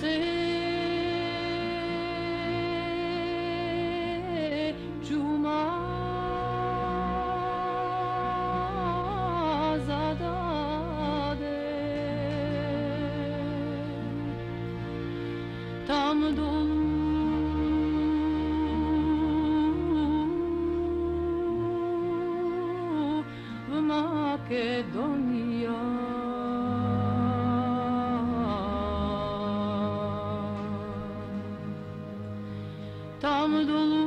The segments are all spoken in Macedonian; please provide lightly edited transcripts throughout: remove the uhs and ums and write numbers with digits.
се чума зададе там долу в Македонија. Там долу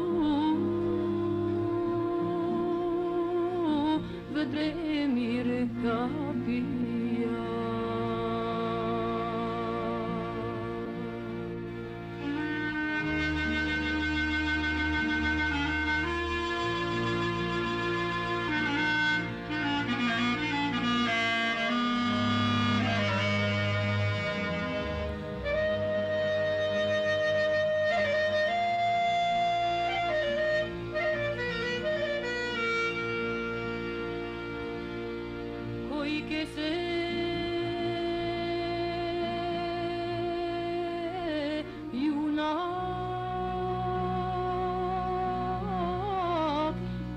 ведре ми река пија. Кој ке се јунак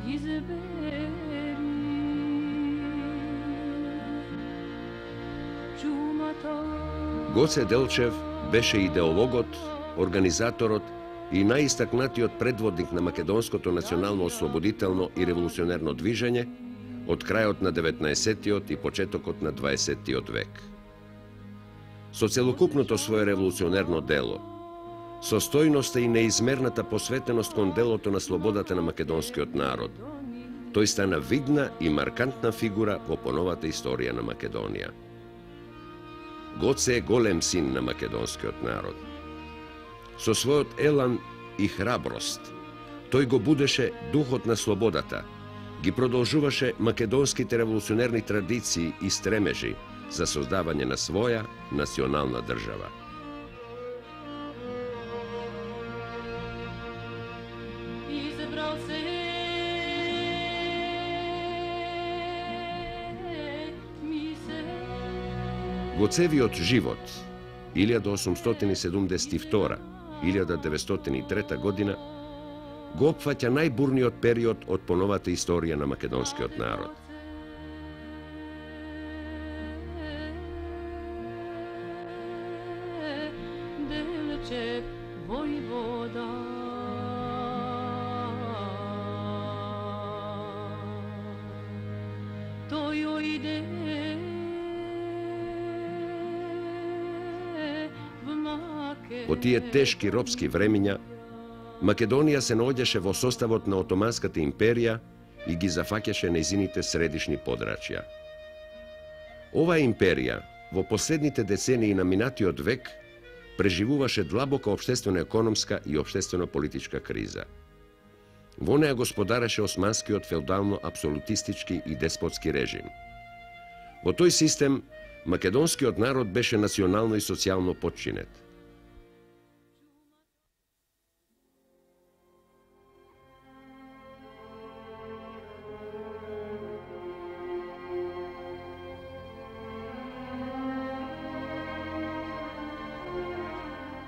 избери чумата. Гоце Делчев беше идеологот, организаторот и најистакнатиот предводник на македонското национално-ослободително и револуционерно движење од крајот на 19-тиот и почетокот на 20-тиот век. Со целокупното свое револуционерно дело, со стојноста и неизмерната посветеност кон делото на слободата на македонскиот народ, тој стана видна и маркантна фигура во поновата историја на Македонија. Гоце е голем син на македонскиот народ. Со својот елан и храброст, тој го будеше духот на слободата, ги продолжуваше македонските револуционерни традиции и стремежи за создавање на своја национална држава. Избрал се ми се. Гоцевиот живот 1872-1903 година го опфаќа најбурниот период од поновата историја на македонскиот народ. Делчев војвода. Тој ојде в Македонија. Во тие тешки робски времиња, Македонија се наоѓаше во составот на Отоманската империја и ги зафаќаше нејзините средишни подрачја. Оваа империја во последните децении на минатиот век преживуваше длабока општествено-економска и општествено-политичка криза. Во неја господареше османскиот феудално-апсолутистички и деспотски режим. Во тој систем, македонскиот народ беше национално и социјално потчинет.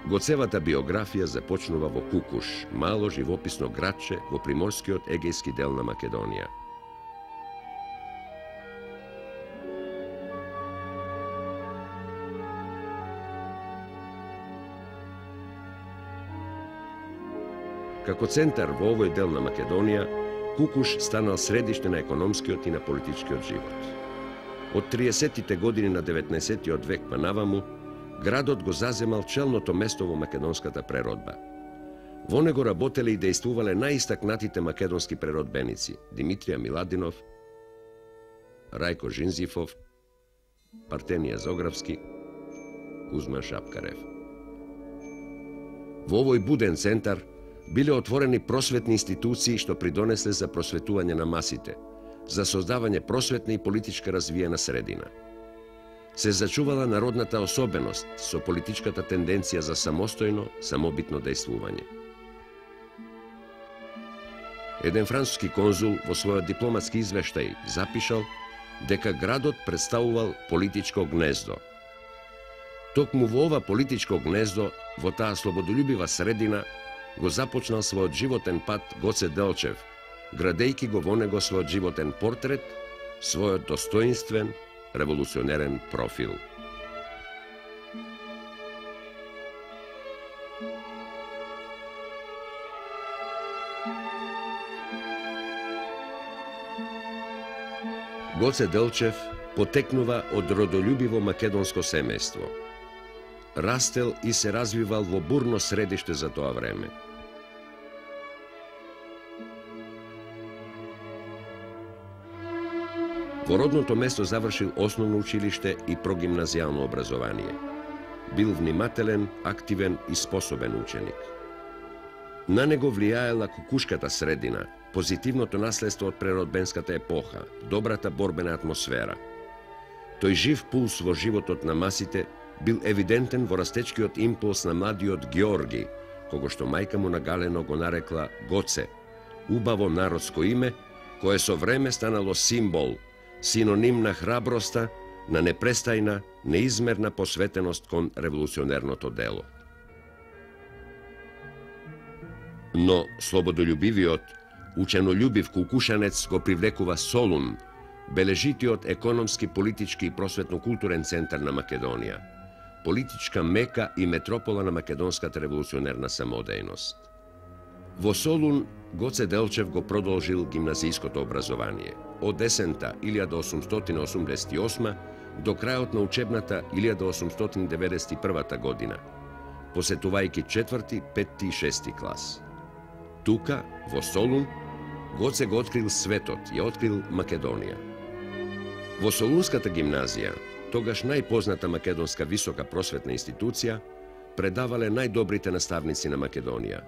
Гоцевата биографија започнува во Кукуш, мало живописно градче во приморскиот егејски дел на Македонија. Како центар во овој дел на Македонија, Кукуш станал средиште на економскиот и на политичкиот живот. Од 30-тите години на 19-тиот век па наваму, градот го заземал челното место во македонската преродба. Во него работеле и дејствувале најистакнатите македонски преродбеници Димитрија Миладинов, Рајко Жинзифов, Партенија Зографски, Кузман Шапкарев. Во овој буден центар биле отворени просветни институции што придонесле за просветување на масите, за создавање просветна и политичка развиена средина. Се зачувала народната особеност со политичката тенденција за самостојно, самобитно дејствување. Еден француски конзул во својот дипломатски извештај запишал дека градот представувал политичко гнездо. Токму во ова политичко гнездо, во таа слободолюбива средина, го започнал својот животен пат Гоце Делчев, градејќи го во него својот животен портрет, својот достоинствен, револуционерен профил. Гоце Делчев потекнува од родолюбиво македонско семејство. Растел и се развивал во бурно средиште за тоа време. Во родното место завршил основно училиште и прогимназијално образование. Бил внимателен, активен и способен ученик. На него влијаела кукушката средина, позитивното наследство од преродбенската епоха, добрата борбена атмосфера. Тој жив пулс во животот на масите бил евидентен во растечкиот импулс на младиот Георги, кого што мајка му нагалено го нарекла Гоце, убаво народско име, кое со време станало символ, синоним на храброста, на непрестајна, неизмерна посветеност кон револуционерното дело. Но слободолюбивиот, ученолюбив кукушанец го привлекува Солун, бележитиот економски, политички и просветно-културен центар на Македонија, политичка мека и метропола на македонската револуционерна самодејност. Во Солун Гоце Делчев го продолжил гимназијското образование од есента 1888 до крајот на учебната 1891 година, посетувајќи 4., 5. и 6. клас. Тука, во Солун, Гоце го открил светот, ја открил Македонија. Во Солунската гимназија, тогаш најпозната македонска висока просветна институција, предавале најдобрите наставници на Македонија: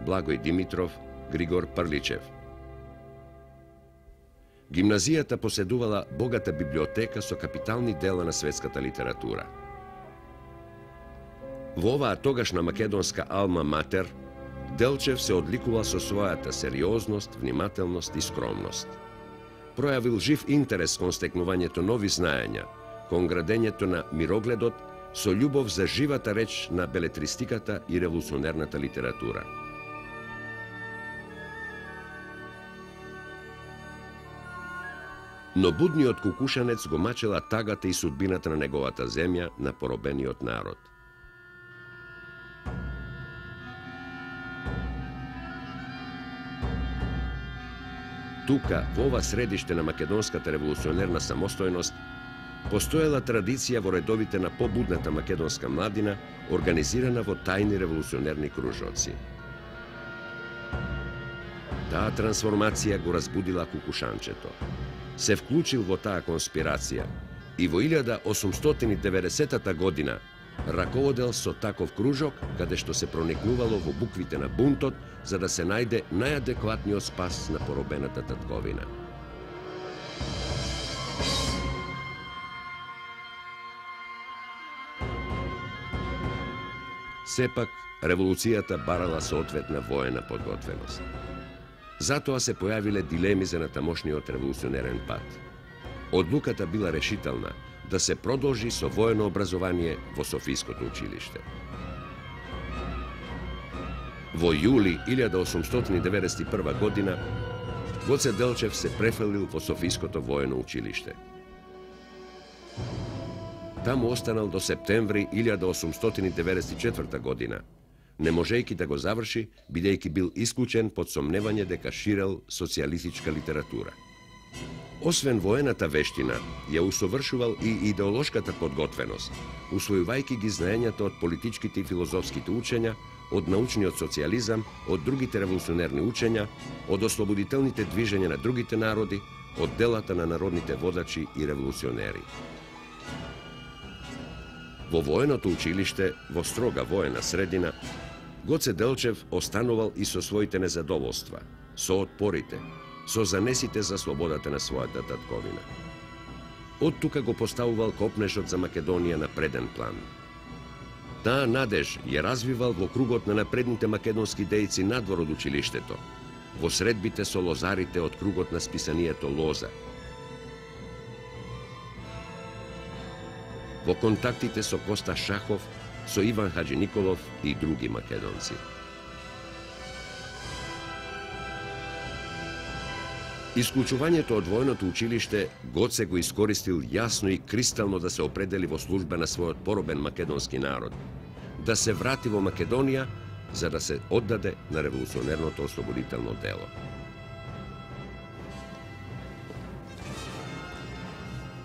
Благој Димитров, Григор Прличев. Гимназијата поседувала богата библиотека со капитални дела на светската литература. Во оваа тогашна македонска алма матер, Делчев се одликувал со својата сериозност, внимателност и скромност. Пројавил жив интерес кон стекнувањето нови знаења, кон градењето на мирогледот, со љубов за живата реч на белетристиката и револуционерната литература. Но будниот кукушанец го мачела тагата и судбината на неговата земја, на поробениот народ. Тука, во ова средиште на македонската револуционерна самостојност, постоела традиција во редовите на побудната македонска младина, организирана во тајни револуционерни кружоци. Таа трансформација го разбудила кукушанчето. Се вклучил во таа конспирација и во 1890 година раководел со таков кружок, каде што се проникнувало во буквите на бунтот, за да се најде најадекватниот спас на поробената татковина. Сепак, револуцијата барала соодветна воена подготвеност. Затоа се појавиле дилеми за натамошниот револуционерен пат. Одлуката била решителна да се продолжи со воено образование во Софиското училиште. Во јули 1891 година Гоце Делчев се префрлил во Софиското воено училиште. Таму останал до септември 1894 година, не можејќи да го заврши, бидејќи бил исклучен под сомневање дека ширел социјалистичка литература. Освен воената вештина, ја усовршувал и идеолошката подготвеност, усвојувајќи ги знаењата од политичките и филозофските учења, од научниот социјализам, од другите револуционерни учења, од ослободителните движења на другите народи, од делата на народните водачи и револуционери. Во военото училиште, во строга воена средина, Гоце Делчев останувал и со своите незадоволства, со отпорите, со занесите за слободата на својата татковина. Од тука го поставувал копнежот за Македонија на преден план. Таа надеж ја развивал во кругот на напредните македонски дејци надвор од училиштето, во средбите со лозарите од кругот на списанието Лоза. во контактите со Коста Шахов, со Иван Хаджи Николов и други македонци. Исклучувањето од војното училиште Гоце го искористил јасно и кристално да се определи во служба на својот поробен македонски народ, да се врати во Македонија за да се оддаде на револуционерното ослободително дело.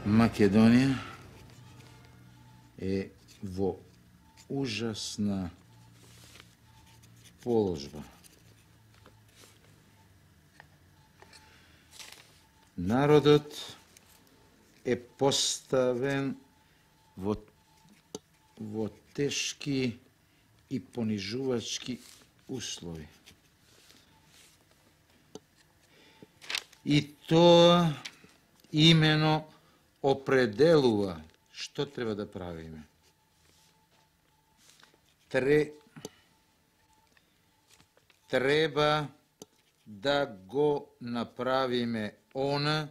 Македонија е во ужасна положба. Народот е поставен во тешки и понижувачки услови. И тоа имено определува што треба да правиме. Треба да го направиме она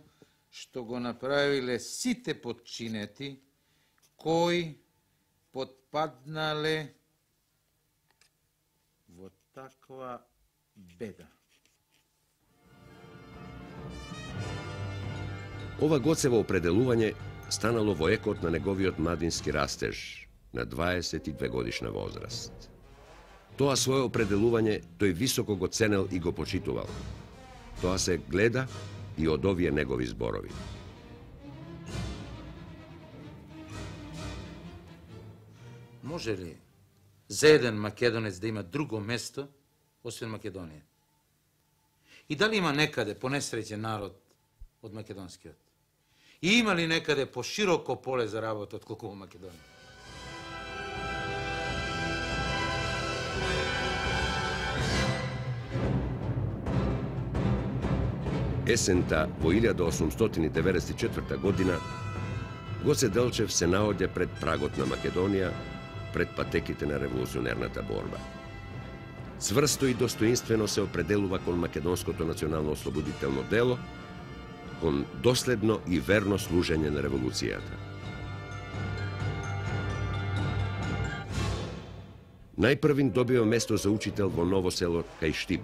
што го направиле сите подчинети кои потпаднале во таква беда. Ова Гоцево определување станало во екот на неговиот младински растеж на 22 годишна возраст. Тоа свое определување тој високо го ценел и го почитувал. Тоа се гледа и од овие негови зборови. Може ли за еден македонец да има друго место, освен Македонија? И дали има некаде понесреќен народ од македонскиот? И има ли некаде пошироко поле за работа отколку во Македонија? Есента во 1894 година Гоце Делчев се наоѓа пред прагот на Македонија, пред патеките на револуционерната борба. Цврсто и достоинствено се определува кон македонското национално ослободително дело, кон доследно и верно служење на револуцијата. Најпрвин добива место за учител во Ново село кај Штип,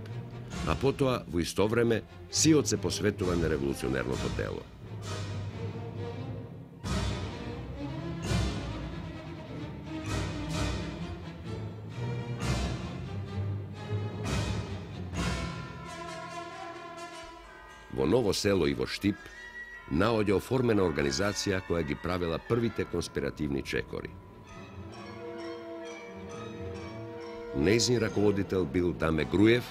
а потоа во исто време сиот се посветува на револуционерното дело. Во Ново село и во Штип наоѓа оформена организација која ги правила првите конспиративни чекори. Нејзин раководител бил Даме Груев,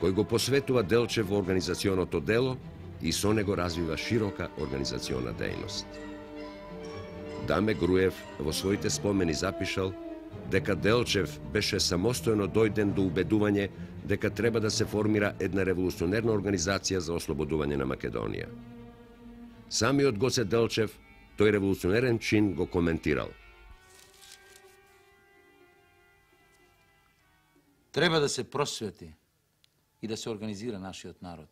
кој го посветува Делчев во организационото дело и со него развива широка организациона дејност. Даме Груев во своите спомени запишал дека Делчев беше самостојно дојден до убедување дека треба да се формира една револуционерна организација за ослободување на Македонија. Самиот Гоце Делчев тој револуционерен чин го коментирал. Треба да се просвети и да се организира нашиот народ.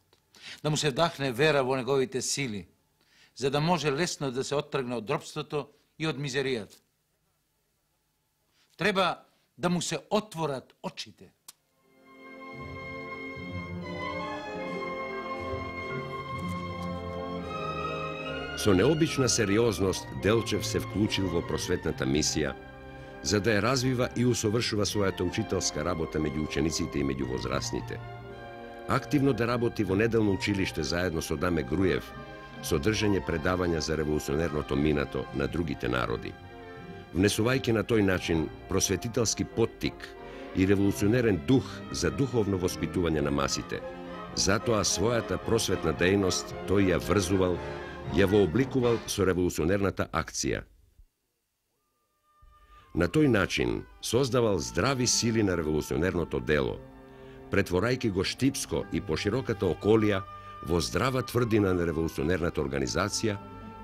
Да му се вдахне вера во неговите сили, за да може лесно да се оттргне од робството и од мизеријата. Треба да му се отворат очите. Со необична сериозност Делчев се вклучил во просветната мисија, за да ја развива и усовршува својата учителска работа меѓу учениците и меѓу возрастните. Активно да работи во неделно училиште заедно со Даме Груев, со држење предавања за револуционерното минато на другите народи. Внесувајќи на тој начин просветителски поттик и револуционерен дух за духовно воспитување на масите. Затоа својата просветна дејност тој ја врзувал, ја вообликувал со револуционерната акција. На тој начин создавал здрави сили на револуционерното дело, претворајќи го Штипско и пошироката околија во здрава тврдина на револуционерната организација,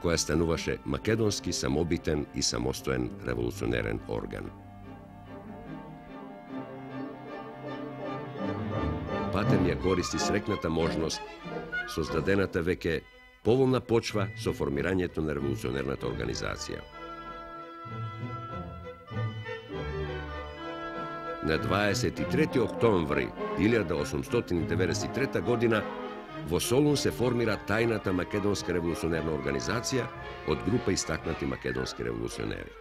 која стануваше македонски самобитен и самостоен револуционерен орган. Патем ја користи срекната можност, создадената веќе поволна почва со формирањето на револуционерната организација. На 23. октомври 1893 година во Солун се формира тајната македонска револуционерна организација од група истакнати македонски револуционери.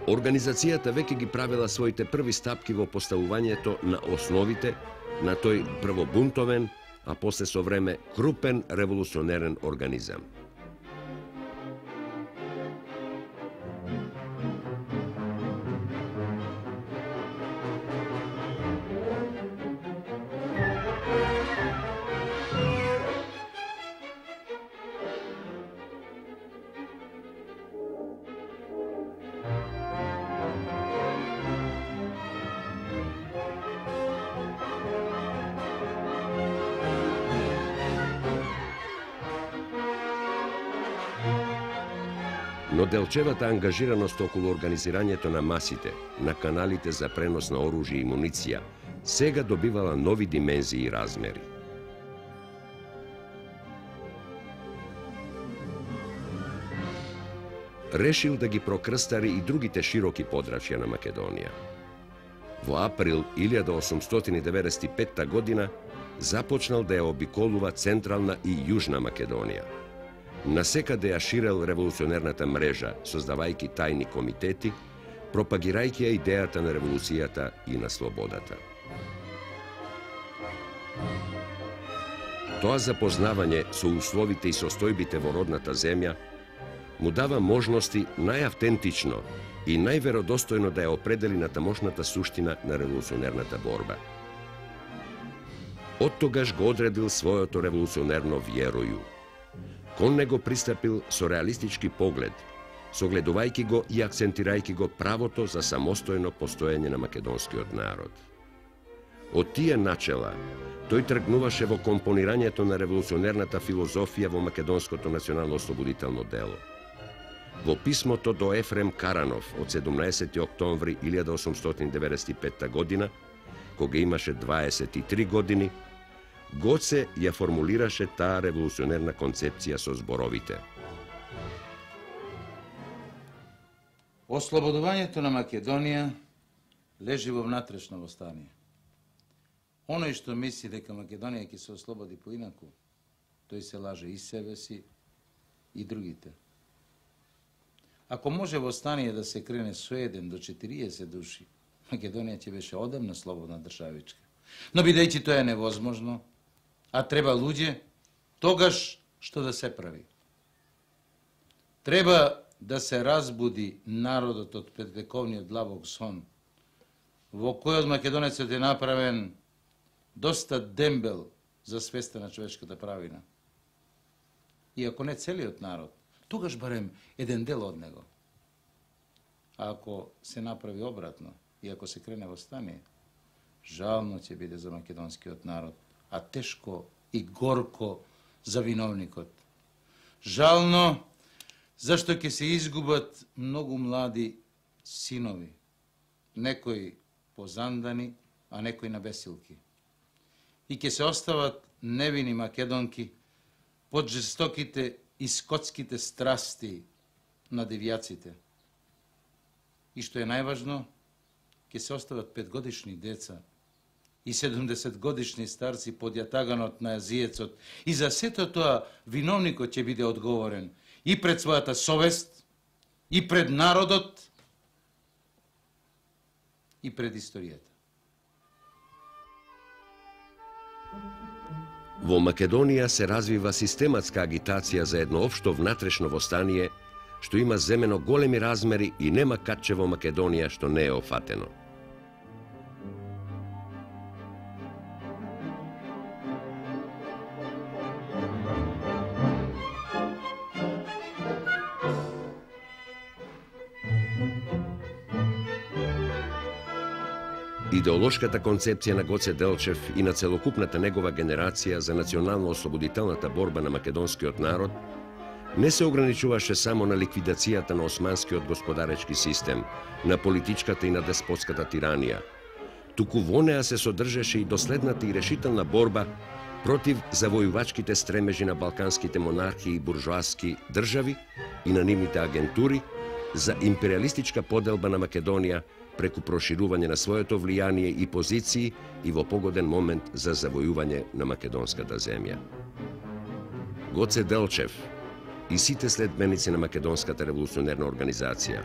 Организацијата веќе ги правила своите први стапки во поставувањето на основите на тој прво бунтовен, а после со време крупен револуционерен организам. Но делчевата ангажираност околу организирањето на масите, на каналите за пренос на оружје и муниција, сега добивала нови димензии и размери. Решил да ги прокрстари и другите широки подрачја на Македонија. Во април 1895 година започнал да ја обиколува Централна и Јужна Македонија. Насекаде ја ширел револуционерната мрежа, создавајќи тајни комитети, пропагирајќи ја идејата на револуцијата и на слободата. Тоа запознавање со условите и состојбите во родната земја му дава можности најавтентично и најверодостојно да ја определи на тамошната суштина на револуционерната борба. Оттогаш го одредил своето револуционерно вјероју. Кон него пристапил со реалистички поглед, согледувајќи го и акцентирајќи го правото за самостојно постоење на македонскиот народ. Од тие начела, тој тргнуваше во компонирањето на револуционерната филозофија во македонското национално-ослободително дело. Во писмото до Ефрем Каранов од 17. октомври 1895 година, кога имаше 23 години, Гоце ја формулираше таа револуционерна концепција со зборовите: Ослободувањето на Македонија лежи во внатрешно востание. Оној што мисли дека Македонија ќе се ослободи поинаку, тој се лаже и себе си и другите. Ако може востание да се крене со 1 до 40 души, Македонија ќе беше одамна слободна државичка. Но бидејќи тоа е невозможно, а треба луѓе, тогаш што да се прави? Треба да се разбуди народот од предвековниот длабок сон, во којот македонецот е направен доста дембел за свеста на човечката правина. И ако не целиот народ, тогаш барем еден дел од него. А ако се направи обратно и ако се крене востание, жално ќе биде за македонскиот народ, а тешко и горко за виновникот. Жално, зашто ќе се изгубат многу млади синови, некои позандани, а некои на бесилки. И ќе се остават невини македонки под жестоките и скотските страсти на девјаците. И што е најважно, ќе се остават 5-годишни деца и 70-годишни старци под јатаганот на јазиецот. И за сето тоа виновникот ќе биде одговорен и пред својата совест, и пред народот, и пред историјата. Во Македонија се развива систематска агитација за едно општо внатрешно востание, што има земено големи размери и нема катче во Македонија што не е офатено. Идеолошката концепција на Гоце Делчев и на целокупната негова генерација за национално-ослободителната борба на македонскиот народ не се ограничуваше само на ликвидацијата на османскиот господаречки систем, на политичката и на деспотската тиранија, туку во неа се содржеше и доследната и решителна борба против завојувачките стремежи на балканските монархии и буржоаски држави и на нивните агентури за империалистичка поделба на Македонија преку проширување на своето влијание и позиции и во погоден момент за завојување на македонската земја. Гоце Делчев и сите следбеници на Македонската револуционерна организација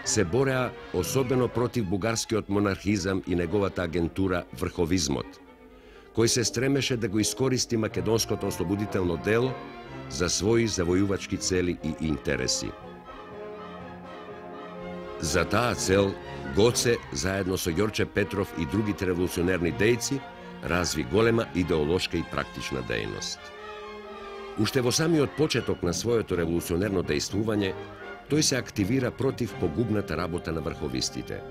се бореа особено против бугарскиот монархизам и неговата агентура врховизмот, кој се стремеше да го искористи македонското ослободително дело за своји завојувачки цели и интереси. За таа цел, Гоце, заедно со Ѓорче Петров и другите револуционерни дејци, разви голема идеолошка и практична дејност. Уште во самиот почеток на своето револуционерно дејствување, тој се активира против погубната работа на врховистите.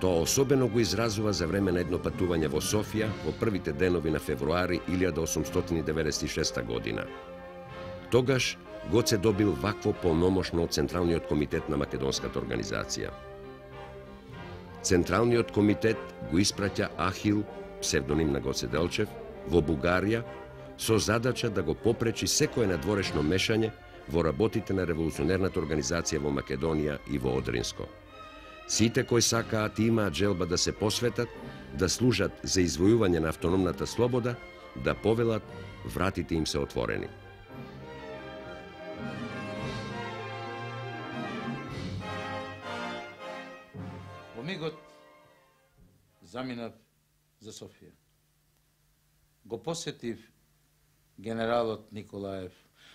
Тоа особено го изразува за време на едно патување во Софија во првите денови на февруари 1896 година. Тогаш Гоце добил вакво полномошно од Централниот комитет на Македонската организација. Централниот комитет го испраќа Ахил, псевдоним на Гоце Делчев, во Бугарија со задача да го попречи секое надворешно мешање во работите на револуционерната организација во Македонија и во Одринско. Сите кои сакаат и имаат желба да се посветат, да служат за извојување на автономната слобода, да повелат, вратите им се отворени. Во мигот заминав за Софија. Го посетив генералот Николаев.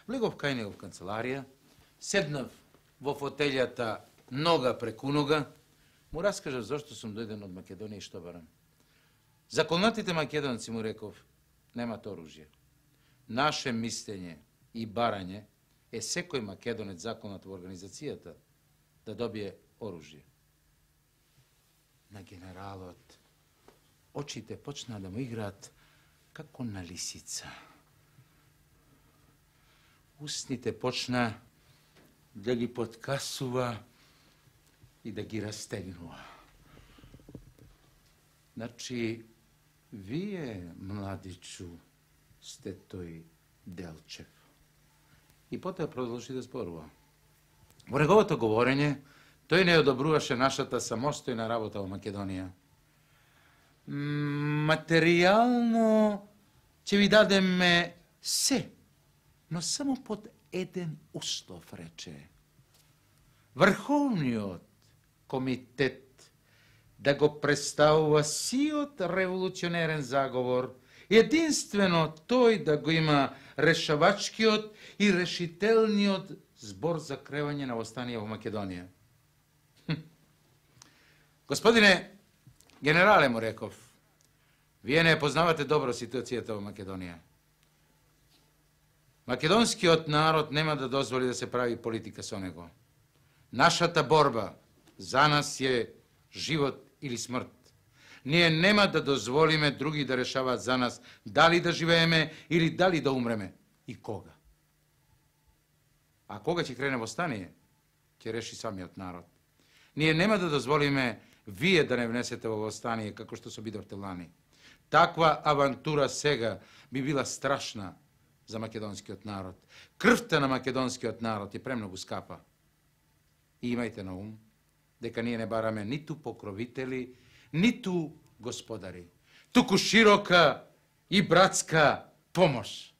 Влегов кај него в канцеларија, седнав во фотелјата нога преку нога, му раскажав зашто сум дојден од Македонија и што барам. Законатите македонци, му реков, немат оружје. Наше мислење и барање е секој македонец законат во организацијата да добие оружје. На генералот очите почна да му играат како на лисица. Устните почна да ги подкасува и да ги растегнува. Значи, вие, младичу, сте тој Делчев. И потоа продолжи да зборува. Во неговото говорење, тој не одобруваше нашата самостојна работа во Македонија. Материјално ќе ви дадеме се, но само под еден услов, рече. Врховниот комитет да го представува сиот револуционерен заговор, единствено тој да го има решавачкиот и решителниот збор за кревање на восстание во Македонија. Господине генерале, му реков, вие не познавате добро ситуацијата во Македонија. Македонскиот народ нема да дозволи да се прави политика со него. Нашата борба за нас е живот или смрт. Ние нема да дозволиме други да решаваат за нас дали да живееме или дали да умреме и кога. А кога ќе крене восстание, ќе реши самиот народ. Ние нема да дозволиме вие да не внесете во восстание како што се бидовте лани. Таква авантура сега би била страшна за македонскиот народ. Крвта на македонскиот народ е премногу скапа. И имајте на ум дека ние не бараме ниту покровители, ниту господари, туку широка и братска помош.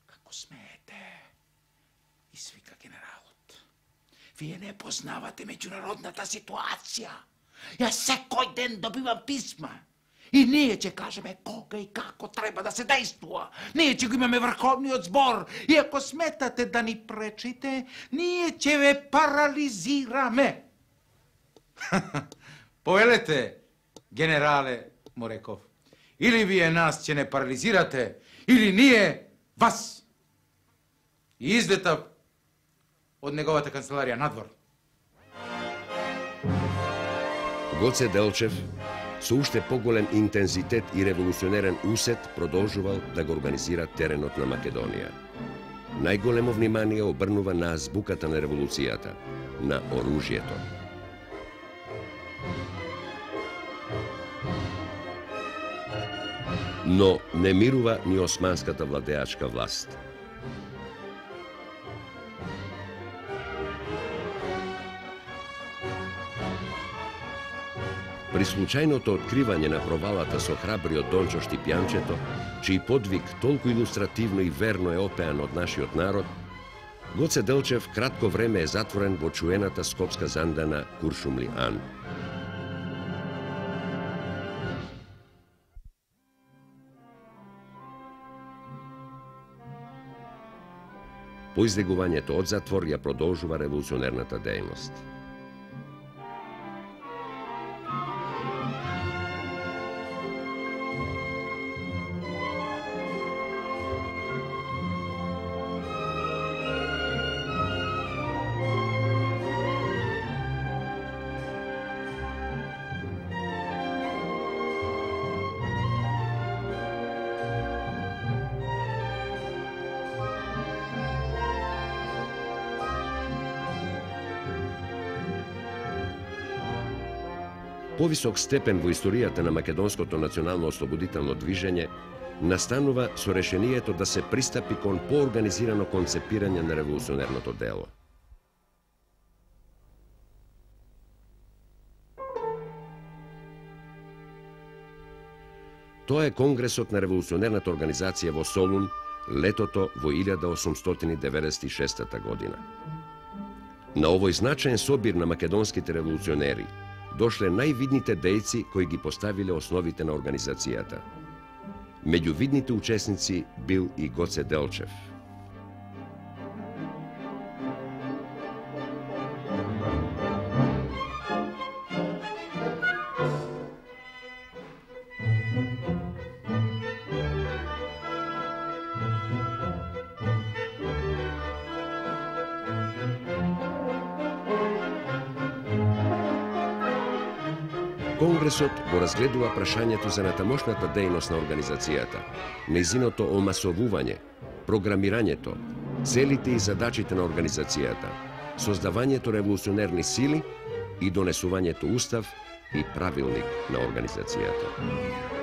Како смеете? Извика генералот. Вие не познавате меѓународната ситуација. Јас секој ден добивам писма. И ние ќе кажеме кога и како треба да се действува. Ние ќе го имаме врховниот збор. И ако сметате да ни пречите, ние ќе ве парализираме. Повелете, генерале, му реков. Или вие нас ќе не парализирате, или ние вас. И излетав од неговата канцеларија надвор. Гоце Делчев со уште поголем интензитет и револуционерен усет продолжувал да го организира теренот на Македонија. Најголемо внимание обрнува на азбуката на револуцијата, на оружјето. Но не мирува ни османската владеачка власт. При случајното откривање на провалата со храбриот Дончо Штипјанчето, чиј подвиг толку илустративно и верно е опеан од нашиот народ, Гоце Делчев кратко време е затворен во чуената скопска зандана Куршумли Ан. По излегувањето од затвор ја продолжува револуционерната дејност. Повисок степен во историјата на македонското национално ослободително движење настанува со решението да се пристапи кон поорганизирано концепирање на револуционерното дело. Тоа е Конгресот на револуционерната организација во Солун летото во 1896 година. На овој значаен собир на македонските револуционери дошле највидните дејци кои ги поставиле основите на организацијата. Меѓу видните учесници бил и Гоце Делчев. Конгресот го разгледува прашањето за натамошната дејност на организацијата, нејзиното омасовување, програмирањето, целите и задачите на организацијата, создавањето револуционерни сили и донесувањето устав и правилник на организацијата.